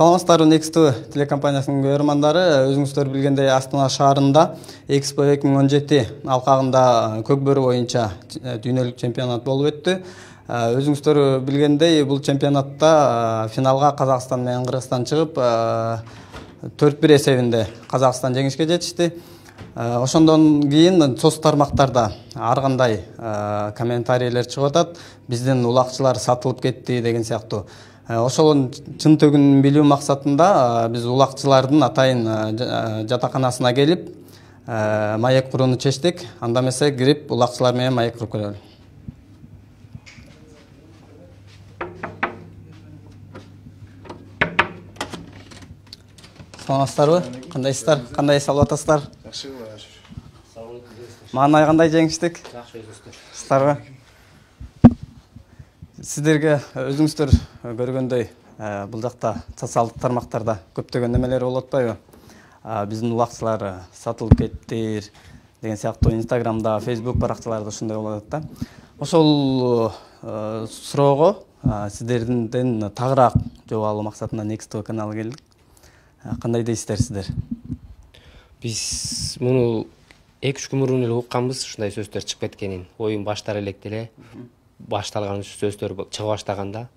Саламатсыздарбы, Next телекомпаниясынын көрөрмандары. Өзүңүздөр билгендей, Астана шаарында Экспо 2017 алкагында көкбөрү боюнча дүйнөлүк чемпионат болуп өттү. Өзүңүздөр билгендей, бул чемпионатта финалга Казакстан менен Кыргызстан чыгып, 4-1 эсебинде Казакстан жеңишке жетишти. Ошондон кийин соц тармактарда ар кандай комментарийлер чыгып атат. Биздин улакчылар сатылып кетти деген сыяктуу. Ошол чын төгүнүн билүү максатында биз улакчылардын атайын жатаканасына келип, маек курууну чечтик. Анда эмесе кирип улакчылар менен маек куруп көрөлү. Саламатсыздарбы? Кандайсыздар? Кандай салып атасыздар? Жакшы. Маанай кандай жеңиштик? Жакшы өзүңүздөр. Сыздарбы? Сиздерге өзүңүздөр көргөндөй бул жакта социалдык тармактарда көптөгөн немелер болуп атпайбы? Биздин улакчылар сатылып кетти деген сыяктуу Инстаграмда, Facebook баракчаларда ушундай болуп атат да. Ошол суроого сиздерден тагыраак жооп алуу максатында Next каналы келдик. Кандай дейсиздер сиздер? Биз муну 2-3 күн мурун эле укканбыз, ушундай сөздөр чыгып кеткенин. Оюн баштар электе эле башталган сөздөр чыга баштаганда,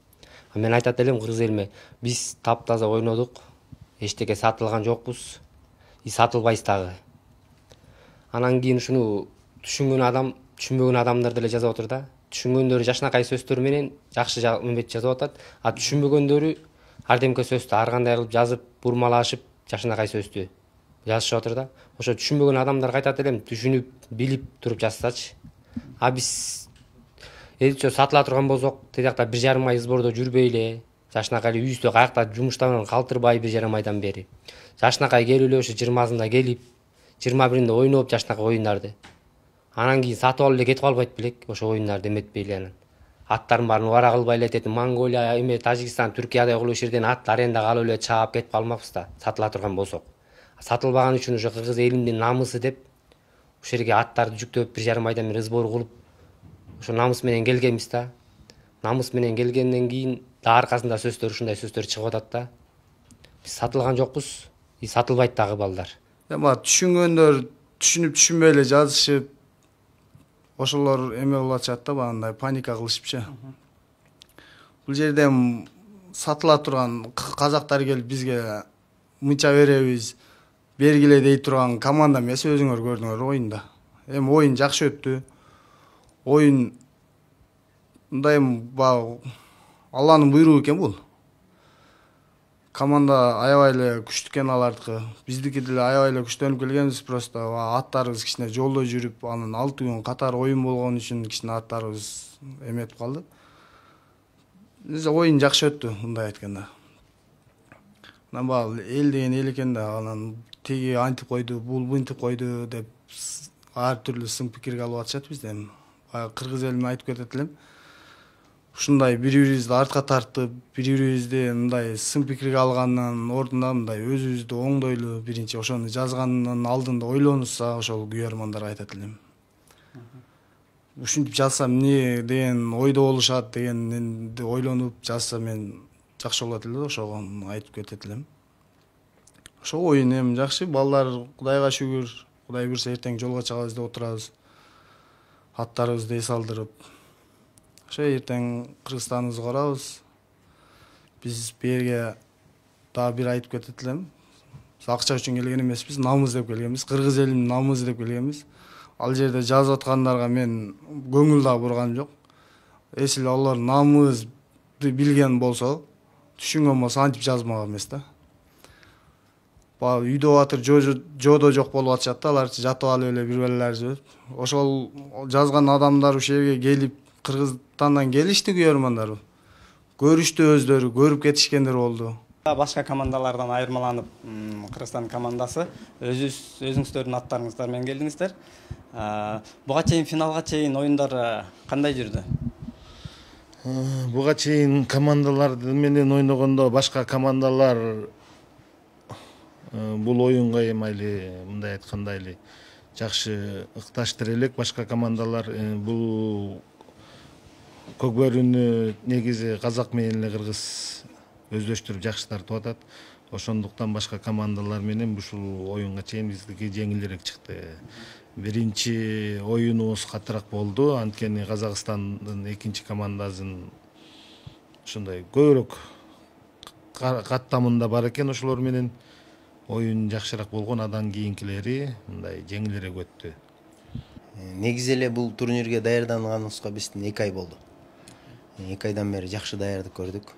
мен айтат элем кыргыз элиме, биз таптаза ойнодук, эчтеке сатылган жокпуз, сатылбайбыз дагы. Анан кийин ушуну түшүнбөгөн адамдар деле жазып отур да. Түшүнгөндөрү жашынакай сөздөр менен жакшы эмет жазып атат, түшүнбөгөндөрү ар демке сөздү ар кандай кылып жазып, бурмалашып, жашынакай сөздү жазышып отур да. Ошо түшүнбөгөн адамдарга айтат элем, түшүнүп, билип туруп жазсачы. Биз элче сатыла турган болсок, тиякта 1,5 ай сбордо жүрбөй жашынакай үйүздө каякта жумуштан калтырбай 1,5 айдан бери. Жашынакай келип эле ошо 20-сында келип, 21-inde ойноп жашынакай оюндарды. Анан кийин сатып алып эле кетип калбайт белек, ошо оюндарды эметпей эле анан. Аттарын баарын убара кылбай эле тетип Монголия, Тажикстан, Түркияда кылып ишерден ат арендага алып эле чаап кетип калмакпыз да, сатыла турган болсок. Сатылбаган үчүн ошо кыргыз элимдин намысы деп ошол жерге аттарды жүктөп 1,5 айдан бери сбор кылып, ошо намыс менен келгенбиз да. Намыс менен келгенден кийин да аркасында сөздөр ушундай сөздөр чыгып атат да. Биз сатылган жокпуз, сатылбайт дагы балдар. Эми түшүнгөндөр түшүнүп-түшүнбөй эле жазышып, ошолор эме болуп атышат да, баягындай паника кылышыпчы. Бул жерде сатыла турган казактар келип бизге мынча беребиз, бергиле дей турган команда эмес, өзүңөр көрдүңөр оюнда. Эми оюн жакшы өттү. Оюн мындай Алланын буйругу экен бул. Команда аябай эле күчтүү экен алардыкы. Биздики деле аябай эле күчтөнүп келгенбиз, просто аттарыбыз кичине жолдо жүрүп, анан 6 күн катар оюн болгон үчүн кичине аттарыбыз эметип калды. Биз оюн жакшы өттү, мындай айтканда. Анан эл деген эл экен да, анан тиги антип койду, бул мынтип койду деп ар түрлүү сын пикирге алып атышат бизде. Кыргыз элиме айтып кетет элем. Ушундай бири-бирибизди артка тартып, бири-бирибизди мындай сын пикирге алгандан ордуна мындай өзүбүздү оңдойлу, биринчи ошону жазганын алдында ойлонушса, ошол күйөрмандарга айтат элем. Ушинтип жазсам эмне деген ойдо болушат дегенди ойлонуп жазса мен жакшы болот эле, ошого айтып кетет элем. Ошо оюн эми жакшы, балдар Кудайга шүгүр, Кудай буйрса эртең жолго чыгабыз деп отурабыз. Аттарыбызды эс алдырып, ошо эртең Кыргызстаныбызды карабыз. Биз берге дагы бир айтып кетет элем. Биз акча үчүн келген эмеспиз, намыс деп келгенбиз, кыргыз элинин намысы деп келгенбиз. Ал жерде жазып аткандарга мен көңүл да бурганым жок. Эсил алар намысты билген болсо, түшүнгөн болсо антип жазмак эмес да. Үйдө батыр жодо жок болуп атышат да, алар жатып алып эле бир белелер. Ошол жазган адамдар ушул жерге келип, Кыргызстандан келишти күйөрмандар. Көрүштү өздөрү, көрүп кетишкендер болду. Башка командалардан айырмаланып, Кыргызстан командасы өзүңүздөрдүн аттарыңыздар менен келдиңиздер. Буга чейин финалга чейин оюндар кандай жүрдү? Буга чейин командалар менен ойногондо башка командалар бул оюнга эми мындай айтканда жакшы ыкташтыр элек. Башка командалар бул көкбөрүнү негизи казак менен эле кыргыз өздөштүрүп жакшы тартып атат. Ошондуктан башка командалар менен ушул оюнга чейин биздики жеңилирээк чыкты. Биринчи оюнубуз катыраак болду, анткени Казакстандын экинчи командасын ушундай көбүрөөк каттамында бар экен, ошолор менен оюн жакшыраак болгон. Андан кийинкилери мындай жеңилирээк өттү. Негизи эле бул турнирге даярданганыбызга биздин 2 ай болду. 2 айдан бери жакшы даярдык көрдүк.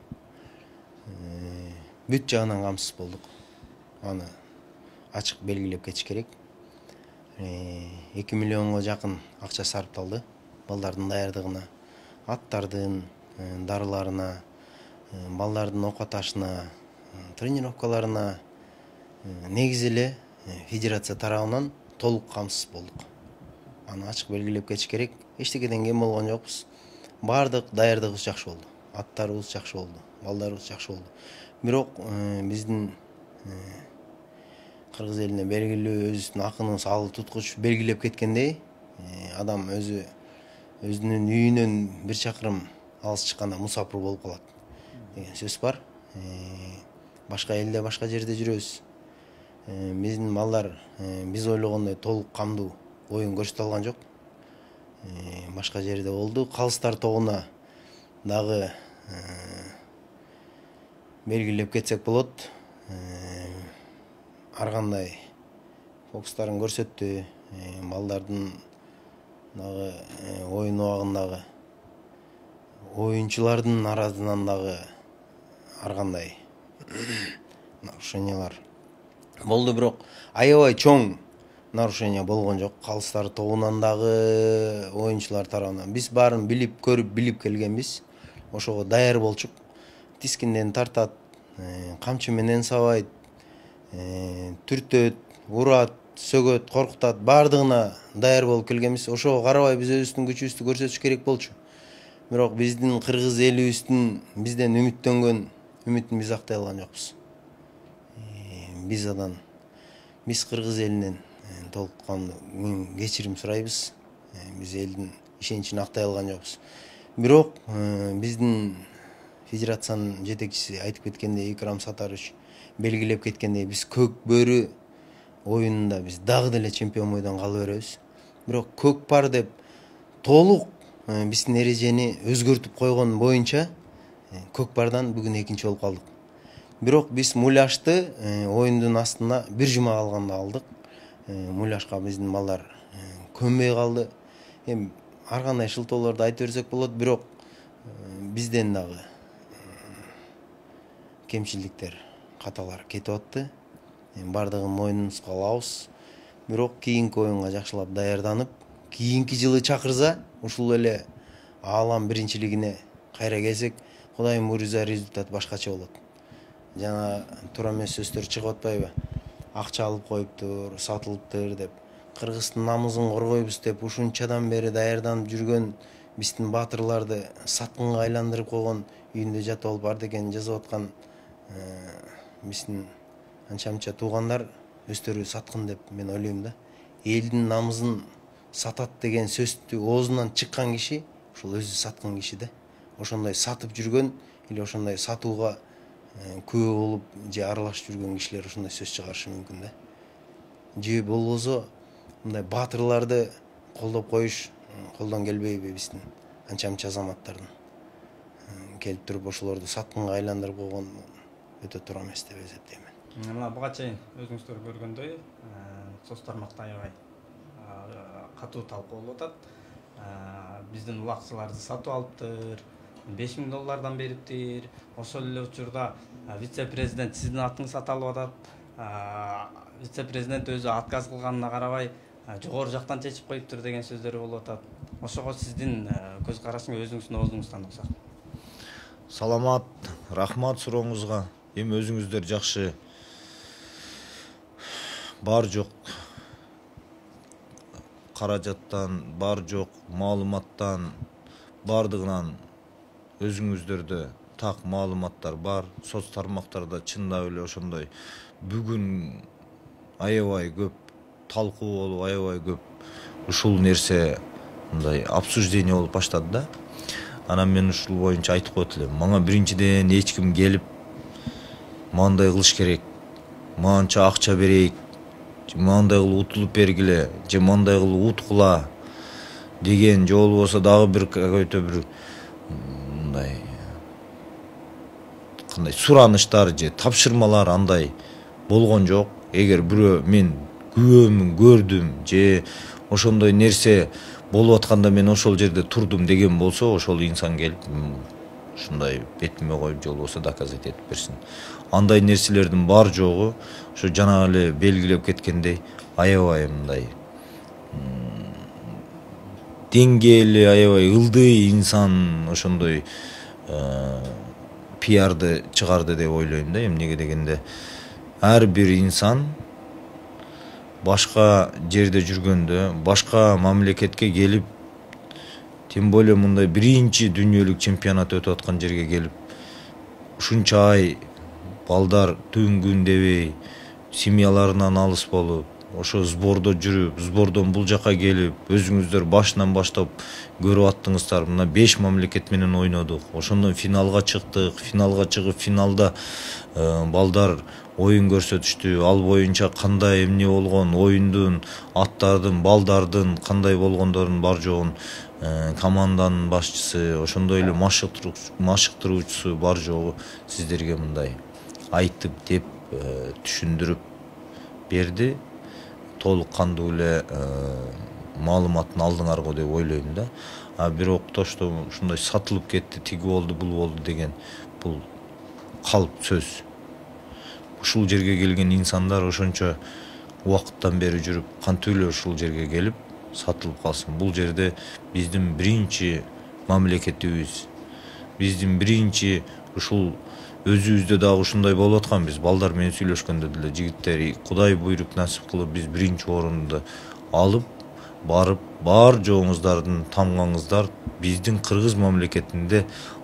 Бүт жагынан камсыз болдук. Аны ачык белгилеп кетиш керек. 2 миллионго жакын акча сарпталды балдардын даярдыгына, аттардын дарыларына, балдардын окуп атышына, тренировкаларына. Негизи эле федерация тарабынан толук камсыз болдук. Аны ачык белгилеп кетиш керек. Эчтекеден кем болгон жокпуз. Бардык даярдыгыбыз жакшы болду. Аттарыбыз жакшы болду, балдарыбыз жакшы болду. Бирок биздин кыргыз элине белгилүү өзүбүздүн акыныбыз ал туткуч белгилеп кеткендей, адам өзүнүн үйүнөн бир чакырым алыс чыкканда мусапыр болуп калат деген сөз бар. Башка элде, башка жерде жүрөбүз. Биздин балдар биз ойлогондой толук камдуу оюн көрсөтө алган жок. Башка жерде болду. Калыстар тогуна дагы белгилеп кетсек болот. Ар кандай фокустарын көрсөттү. Балдардын дагы оюн убагындагы оюнчулардын арасынан дагы ар кандай нарушениялар болду, бирок аябай чоң нарушение болгон жок. Калыстар тобунан дагы оюнчулар тарабынан биз баарын билип, көрүп, билип келгенбиз. Ошого даяр болчук. Тискинден тартат, камчы менен сабайт, түртөт, урат, сөгөт, коркутат, баардыгына даяр болуп келгенбиз. Ошого карабай биз өзүбүздүн күчүбүздү көрсөтүш керек болчу. Бирок биздин кыргыз элибиздин бизден үмүттөнгөн үмүтүн биз актай алган жокпуз. Биз кыргыз элинен толуккандуу кечирим сурайбыз. Биз элдин ишеничин актай алган жокпуз. Бирок биздин федерациянын жетекчиси айтып кеткендей, Икрам Сатарович белгилеп кеткендей, биз көк бөрү оюнунда биз дагы деле чемпион бойдон кала беребиз. Бирок көк пар деп толук биздин эрежени өзгөртүп койгон боюнча көк пардан бүгүн экинчи болуп калдык. Бирок биз муляшты оюндун астына бир жума калганда алдык. Муляшка биздин балдар көнбөй калды. Эми ар кандай шылтоолорду айтып берсек болот, бирок бизден дагы кемчиликтер, каталар кетип атты. Бардыгын мойнубузга алабыз. Бирок кийинки оюнга жакшылап даярданып, кийинки жылы чакырса, ушул эле аалам биринчилигине кайра келсек, Кудайым буйрса результат башкача болот. Жана туура эмес сөздөр чыгып атпайбы? Акча алып коюптур, сатылыптыр деп. Кыргыздын намысын коргойбуз деп ушунчадан бери даярданып жүргөн биздин баатырларды саткынга айландырып койгон, үйүндө жатып алып ар деген жазып аткан биздин анча-мынча туугандар өздөрү саткын деп мен ойлойм да. Элдин намысын сатат деген сөздү оозунан чыккан киши ушул өзү саткын киши да. Ошондой сатып жүргөн или ошондой сатууга күбө болуп же аралашып жүргөн кишилер ошондой сөз чыгарышы мүмкүн да. Же болбосо мындай баатырларды колдоп коюш колдон келбейби биздин анча-мынча азаматтардын келип туруп ошолорду саткынга айландырып койгон өтө туура эмес деп эсептейм. Мына буга чейин өзүңүздөр көргөндөй, соц тармакта аябай катуу талкуу болуп атат. Биздин улакчыларды сатып алыптыр, $5000 бериптир. Ошол эле учурда вице-президент сиздин атыңыз сатылып атат. Вице-президент өзү отказ кылганына карабай жогору жактан чечип коюптур деген сөздөр болуп атат. Ошого сиздин көз карашыңыз өзүңүздүн оозуңуздан уксак. Саламат, рахмат сурооңузга. Эми өзүңүздөр жакшы бар жок каражаттан, бар жок маалыматтан, бардыгынан өзүңүздөрдө так маалыматтар бар. Соц тармактарда чындап эле ошондой бүгүн аябай көп талкуу болуп, аябай көп ушул нерсе мындай обсуждение болуп баштады да. Анан мен ушул боюнча айтып коет элем. Мага биринчиден эч ким келип мындай кылыш керек, мынча акча берейик, мындай кылып утулуп бергиле же мындай кылып уткула деген, же болбосо дагы бир какой-то бир мындай кандай сураныштар же тапшырмалар андай болгон жок. Эгер бирөө мен күбөмүн, көрдүм же ошондой нерсе болуп атканда мен ошол жерде турдум деген болсо, ошол инсан келип ушундай бетиме коюп же болбосо доказать этип берсин. Андай нерселердин бар жогу ошо жана эле белгилеп кеткендей аябай мындай деңгээли, аябай ылдый инсан ошондой пиарды чыгарды деп ойлойм да. Эмнеге дегенде ар бир инсан башка жерде жүргөндө, башка мамлекетке келип, тем более мындай биринчи дүйнөлүк чемпионат өтүп аткан жерге келип, ушунча ай балдар түн күн дебей семьяларынан алыс болуп, ошо сбордо жүрүп, сбордон бул жака келип, өзүңүздөр башынан баштап көрүп аттыңыздар. Мына 5 мамлекет менен ойнодук. Ошондон финалга чыктык. Финалга чыгып, финалда балдар оюн көрсөтүштү. Ал боюнча кандай эмне болгон, оюндун, аттардын, балдардын кандай болгондорун бар жогун команданын башчысы, ошондой эле машыктыруучусу бар жогу сиздерге мындай айтып деп түшүндүрүп берди. Толук кандуу эле маалыматын алдыңар го деп ойлойм да. Бирок то, что ушундай сатылып кетти, тиги болду, бул болду деген бул калп сөз. Ушул жерге келген инсандар ошончо убакыттан бери жүрүп, кантип эле ушул жерге келип сатылып калсын. Бул жерде биздин биринчи мамлекетибиз, биздин биринчи ушул өзүбүздө дагы ушундай болуп аткан. Биз балдар менен сүйлөшкөндө деле жигиттер Кудай буйрук насип кылып биз биринчи орунду алып барып, бар жоңуздардын тамгаңыздар биздин Кыргыз мамлекетинде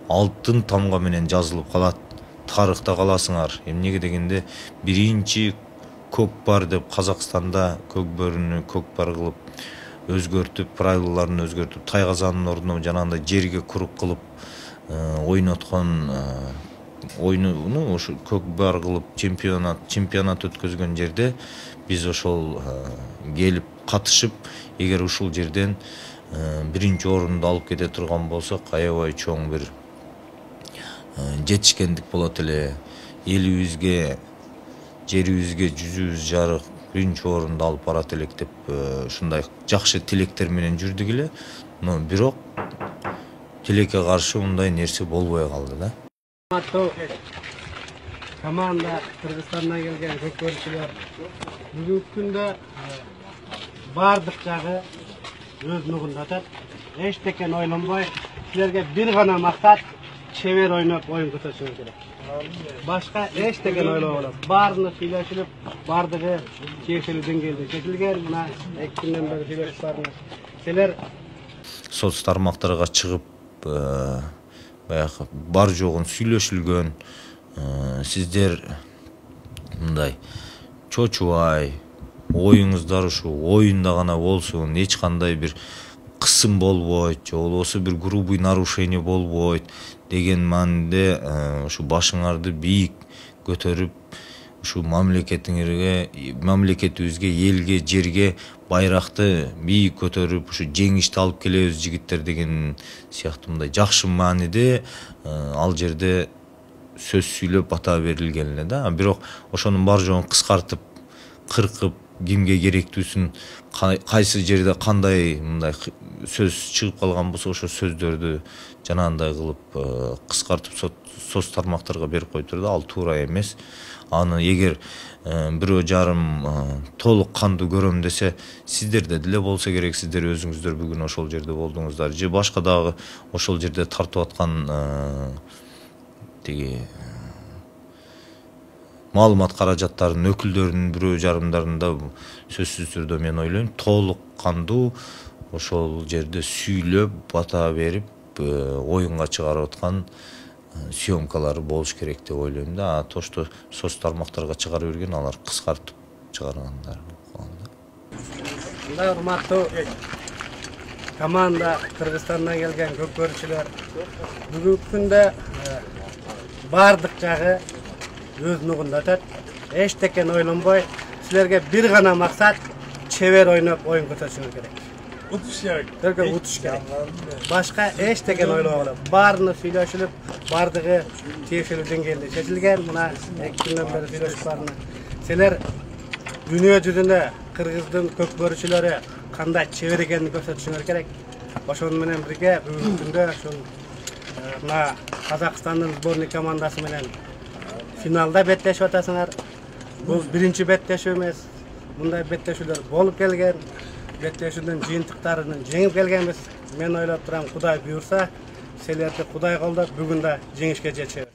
алтын тамга менен жазылып калат. Тарыхта каласыңар. Эмнеге дегенде биринчи көкпар деп Казакстанда көкбөрүнү көкпар кылып өзгөртүп, правилаларын өзгөртүп, тайгазанын ордуна жанагындай жерге курук кылып ойноткон ойнуну ошо көкпар кылып чемпионат өткөзгөн жерде биз ошол келип катышып, эгер ушул жерден биринчи орунду алып кете турган болсок, аябай чоң бир жетишкендик болот эле. Элибизге, жерибизге жүзүбүз жарык биринчи орунду алып барат элек деп ушундай жакшы тилектер менен жүрдүк эле. Но бирок тилекке каршы мындай нерсе болбой калды да. Команда Кыргызстандан келген көкбөрчүлөр бүгүнкү күндө бардык жагы өз нугунда атат. Эчтекен ойлонбой, силерге бир гана максат чебер ойноп оюн көрсөтүшүңүз керек. Башка эчтекен ойлоболот. Баарына сүйлөшүлүп, бардыгы тиешелүү деңгээлде чечилген. Мына 2 күндөн бери сүйлөшүп бардыңыз. Силер соц тармактарга чыгып баягы бар жогун сүйлөшүлгөн. Сиздер мындай чочубай, оюңуздар ушу оюнда гана болсун, эч кандай бир кысым болбойт, же болбосо бир грубый нарушение болбойт деген мааниде ушу башыңарды бийик көтөрүп, ушу мамлекетибизге, элге, жерге байракты бийик көтөрүп, ушу жеңишти алып келебиз жигиттер деген сыяктуу мындай жакшы мааниде ал жерде сөз сүйлөп бата берилген эле да. Бирок ошонун бар жогун кыскартып, кыркып, кимге керектүүсүн, кайсы жерде кандай мындай сөз чыгып калган болсо, ошо сөздөрдү жанагындай кылып кыскартып соц тармактарга берип коюптур да. Ал туура эмес. Аны эгер бирөө жарым толук кандуу көрөм десе, сиздерде деле болсо керек, сиздер өзүңүздөр бүгүн ошол жерде болдуңуздар, же башка дагы ошол жерде тартып аткан тиги маалымат каражаттарынын өкүлдөрүнүн бирөө жарымдарын да сөзсүз түрдө мен ойлойм толук кандуу ошол жерде сүйлөп, бата берип, оюнга чыгарып аткан съемкалары болуш керек деп ойлойм да. То, что соц тармактарга чыгара берген, алар кыскартып чыгаргандар. Мындай урматтуу команда Кыргызстандан келген көкбөрчүлөр бүгүнкү күндө бардык жагы өз нугунда өтөт. Эчтекен ойлонбой, силерге бир гана максат чебер ойноп оюн көрсөтүшүңүз керек. Утуш керек. Только утуш керек. Башка эчтекен ойлобогула. Баарыны сүйлөшүлүп, бардыгы тиешелүү деңгээлде чечилген. Мына 2 күндөн бери сүйлөшүп барына. Силер дүйнө жүзүндө кыргыздын көкбөрүчүлөрү кандай чебер экенин көрсөтүшүңөр керек. Ошону менен бирге бүгүнкү күндө ушул мына Казакстандын сборный командасы менен финалда беттешип атасыңар. Бул биринчи беттешүү эмес. Мындай беттешүүлөр болуп келген. Беттешүүнүн жыйынтыктарын жеңип келгенбиз. Мен ойлоп турам, Кудай буйрса, силерди Кудай колдоп, бүгүн да жеңишке жетишебиз.